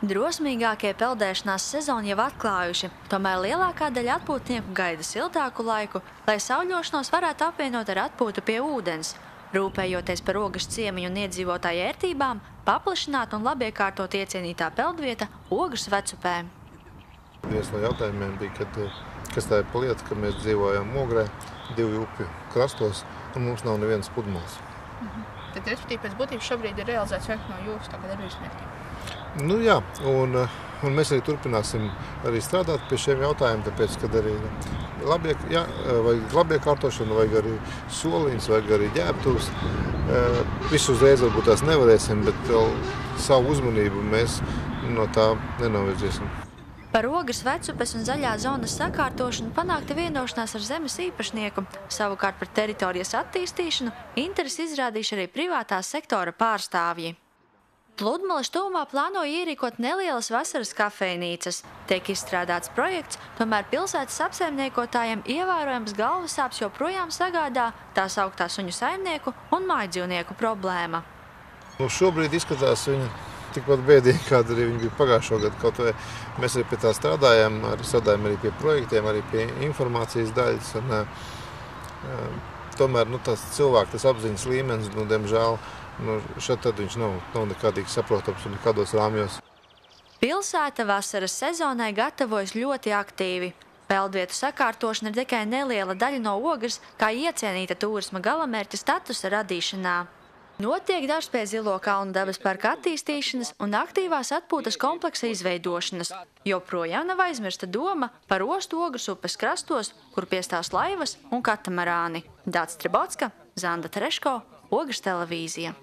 Drosmīgākie peldēšanās sezonu jau atklājuši, tomēr lielākā daļa atpūtnieku gaida siltāku laiku, lai sauļošanos varētu apvienot ar atpūtu pie ūdens. Rūpējoties par Ogres ciemiņu un iedzīvotāju ērtībām, paplašināt un labiekārtot iecienītā peldvieta Ogres vecupē. Viens no jautājumiem bija, kas tā ir pa lieta, ka mēs dzīvojam Ogrē, 2 upju krastos, un mums nav nevienas pludmales. Tad, respektīvi, pēc būtības šobrīd ir realizēts viens no jūsu tagad darbības mērķiem. Nu jā, un mēs arī turpināsim arī strādāt pie šiem jautājumiem, tāpēc, kad arī vajag labiekārtošanu, vajag arī soliņus, vajag arī ģērbtuvus. Visu uzreiz varbūt tās nevarēsim, bet savu uzmanību mēs no tā nenovirziesim. Par Ogres vecupes un zaļā zonas sakārtošanu panākta vienošanās ar zemes īpašnieku. Savukārt par teritorijas attīstīšanu interesi izrādījuši arī privātā sektora pārstāvji. Pludmales tuvumā plānoja ierīkot nelielas vasaras kafejnīcas. Tiek izstrādāts projekts, tomēr pilsētas apsaimniekotājiem ievērojams galvasāpes joprojām sagādā tā sauktā suņu saimnieku un mājdzīvnieku problēma. Šobrīd izskatās viņa tikpat bēdīgi, kāda arī viņa bija pagājušo gadu. Kaut vai mēs arī pie tā strādājam arī pie projektiem, arī pie informācijas daļas. Tomēr tas cilvēku apziņas līmenis, diemžēl, šeit tad viņš nav nekādīgi saprotams un nekādos rāmjos. Pilsēta vasaras sezonai gatavojas ļoti aktīvi. Peldvietu sakārtošana ir tikai neliela daļa no Ogres, kā iecienīta turisma galamērķa statusa radīšanā. Notiek darbs pie Zilo kalnu dabas parka attīstīšanas un aktīvās atpūtas kompleksa izveidošanas. Joprojām nav aizmirsta doma par ostu Ogres upes krastos, kur piestās laivas un katamarāni. Dāts Tribotska, Zanda Tereško, Ogres televīzija.